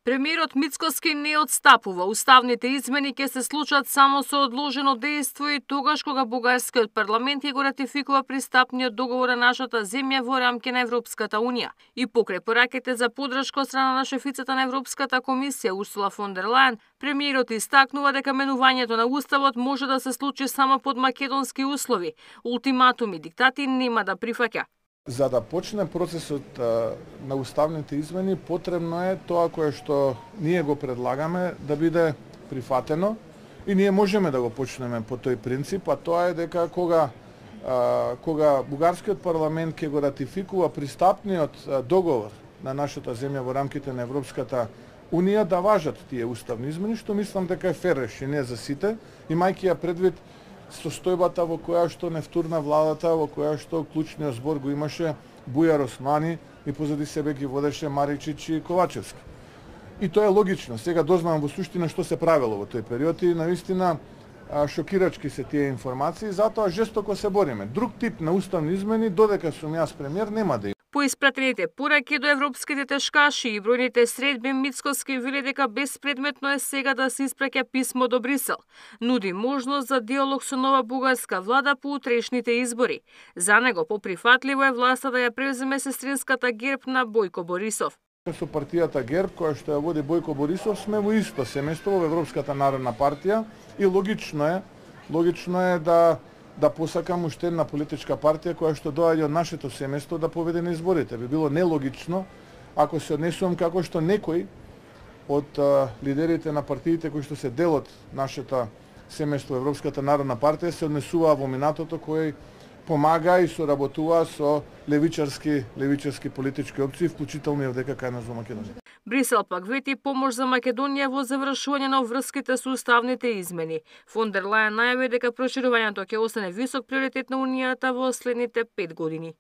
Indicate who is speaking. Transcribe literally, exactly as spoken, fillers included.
Speaker 1: Премиерот Мицкоски не отстапува. Уставните измени ќе се случат само со одложено дејство и тогаш кога бугарскиот парламент ќе го ратификува пристапниот договор на нашата земја во рамки на Европската унија. И покрај пораките за поддршка од страна на шефицата на Европската комисија Урсула фон дер Лајен, премиерот истакнува дека менувањето на уставот може да се случи само под македонски услови. Ултиматуми, диктати нема да прифаќа.
Speaker 2: За да почне процесот а, на уставните измени, потребно е тоа кое што ние го предлагаме да биде прифатено и ние можеме да го почнеме по тој принцип, а тоа е дека кога а, кога бугарскиот парламент ќе го ратификува пристапниот а, договор на нашата земја во рамките на Европската унија, да важат тие уставни измени, што мислам дека е фер решение за сите, имајќи ја предвид состојбата во која што не втурна владата, во која што клучниот збор го имаше Бујар Османи и позади себе ги водеше Маричич и Ковачевски. И тоа е логично. Сега дознавам во суштина што се правело во тој период и навистина шокирачки се тие информации, затоа жестоко се бориме. Друг тип на уставни измени, додека сум јас премиер, нема да има.
Speaker 1: По испратените пораки до европските тешкаши и бројните средби, Мицкоски вели дека безпредметно е сега да се испраќа писмо до Брисел. Нуди можност за диалог со нова бугарска влада по утрешните избори. За него поприфатливо е власта да ја превземе сестринската герб на Бојко Борисов.
Speaker 2: Со партијата Герб, која што ја води Бојко Борисов, сме во исто семејство во Европската народна партија и логично е, логично е да да посакам уште една политичка партија која што доаѓа од нашето семејство да победи на изборите. Би било нелогично ако се однесувам како што некои од а, лидерите на партиите кои што се дел од нашето семејство Европската народна партија се однесуваа во минатото, кој помага и соработува со левичарски левичарски политички опции, вклучително и од ДКК на Македонија.
Speaker 1: Брисел пак вети помош за Македонија во завршување на врските со уставните измени. Фон дер Лајен најави дека проширувањето ќе остане висок приоритет на Унијата во следните пет години.